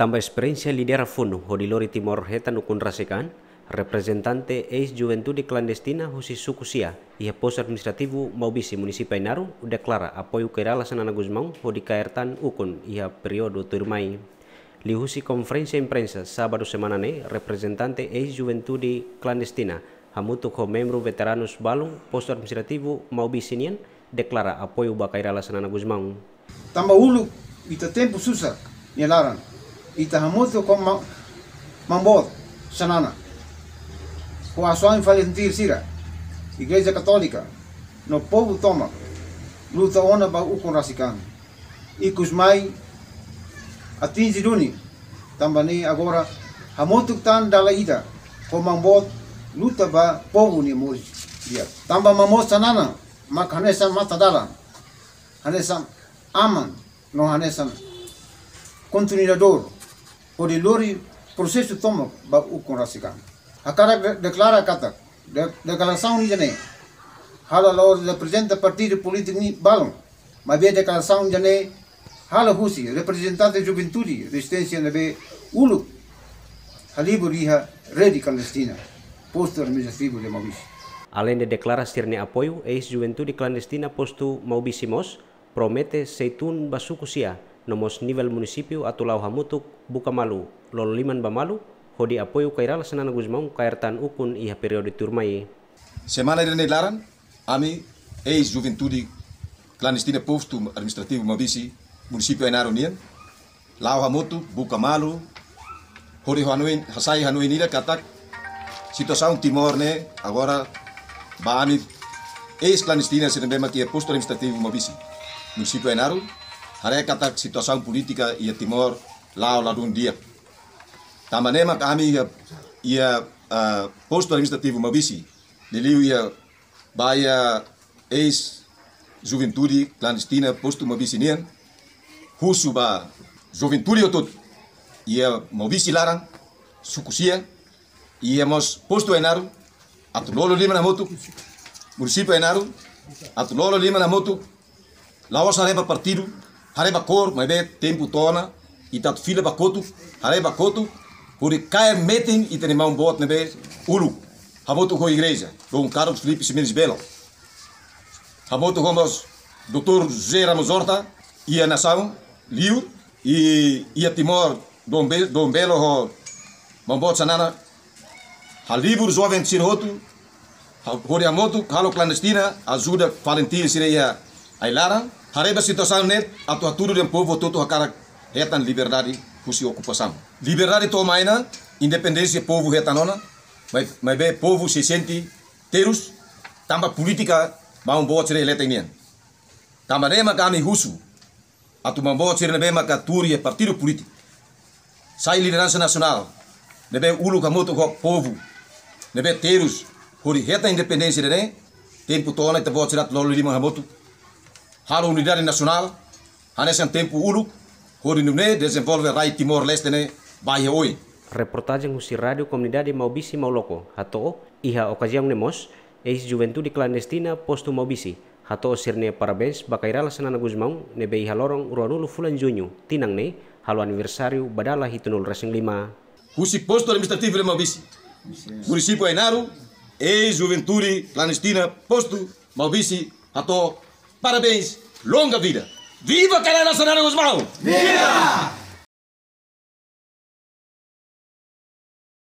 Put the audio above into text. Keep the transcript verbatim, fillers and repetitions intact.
Tanba esperiénsia lidera funu hodi lori Timor hetan ukun rasik an, reprezentante eis-juventude klandestina husi suku Sia iha Postu Administrativu Maubisse, Munisípiu Ainaro, deklara apoiu Kay Rala Xanana Gusmão hodi kaer tan ukun iha períodu tuirmai. Liuhusi konferénsia imprensa sábadu semana ne'e, reprezentante eis-juventude klandestina hamutuk ho membru veteranus balun Postu Administrativu Maubisse nian deklara apoiu ba Kay Rala Xanana Gusmão. Tanba uluk ita tempu susar nia laran, ita hamutuk ho ma-, Maun Boot Xanana, ho asaun valentír sira, Igreja Katólika no povu tomak luta ona ba ukun rasik an. Ikus mai atinji duni, tanba ne'e agora hamutuk tan dala ida ho Maun Boot luta ba povu nia moris di'ak. Tanba Maun Boot Xanana mak hanesan matadalan, hanesan aman no hanesan kontinuadór hodi lori prosesu tomak ba ukun rasik an. Hakarak de-, deklara katak de-, deklarasaun ida-ne'e halo la'ós reprezenta partidu polítiku nia balun, maibé deklarasaun ida-ne'e halo husi reprezentante juventude rezisténsia ne'ebé uluk halibur iha rede klandestina Postu Administrativu de Maubisse. Aleinde deklara sira-nia apoiu, eis-juventude klandestina Postu Maubisse mós promete sei tun ba suku Sia no mós nivel munisípiu atu la'o hamutuk buka malu, lolo liman ba malu, hodi apoiu Kay Rala Xanana Gusmão kaer tan ukun iha períodu tuirmai. Semana ida-ne'e laran, ami eis-juventude klandestina Postu Administrativu Maubisse, Munisípiu Ainaro nian, la'o hamutuk buka malu, hodi hanoin, hasai hanoin ida katak situasaun Timor ne'e agora ba ami eis-klandestina sira ne'ebé mak iha Postu Administrativu Maubisse, Munisípiu Ainaro, haree katak situasaun polítika iha Timor la'o ladún di'ak. Tanba ne'e mak ami iha, iha, ah, Postu Administrativu Maubisse, liuliu iha ba iha eis-juventude klandestina Postu Maubisse nian, husu ba juventude hotu-hotu iha Maubisse laran, suku Sia, iha mós Postu Ainaro, atu lolo liman hamutuk, Munisípiu Ainaro, atu lolo liman hamutuk, la'ós haree ba partidu, haree ba kór, maibé tempu to'o ona, ita atu fila ba kotuk, haree ba kotuk, hodi kaer metin ita-nia Maun Boot ne'ebé uluk, hamutuk ho igreja, Dom Carlos Filipe Ximenes Belo, hamutuk ho mós doutór José Ramos Horta, iha nasaun liur, i iha Timor, Dom Be-, Dom Belo ho Maun Boot Xanana, halibur joven sira hotu, ha-, hodi hamutuk halo klandestina, ajuda valentír sira iha ai-laran, haree ba situasaun ne'e, atu hatudu dehan povu hotu-hotu hakarak hetan liberdade husi okupasaun. Liberdade to'o mai ona, independénsia povu hetan ona, mai-, maibé povu sei sente terus, tanba polítika Maun Boot sira hetan nian. Tanba ne'e mak ami husu atu Maun Boot sira ne'ebé maka tuur iha partidu polítiku, sai lideransa nasionál, ne'ebé uluk hamutuk ho povu, ne'ebé terus hodi hetan independénsia ida-ne'e, tempu to'o ona ita-boot sira atu lolo liman hamutuk, halo unidade nasionál, hanesan tempu uluk, hodi nune'e dezenvolve rai Timor-Leste ne'e ba iha oin. Reportajen husi Rádiu Komunidade Maubisse Mauloko hato'o, iha okaziaun ne'e mós, eis-juventude klandestina Postu Maubisse hato'o sira-nia parabéns ba Kay Rala Xanana Gusmão ne'ebé iha loron ruanulu fulan Juñu tinan ne'e halo aniversáriu ba dala hitunulu-resin-lima. Husi Postu Administrativu de Maubisse, Munisípiu Ainaro, eis-juventude klandestina Postu Maubisse hato'o parabéns, longa vida. Viva Kay Rala Xanana Gusmão! Viva!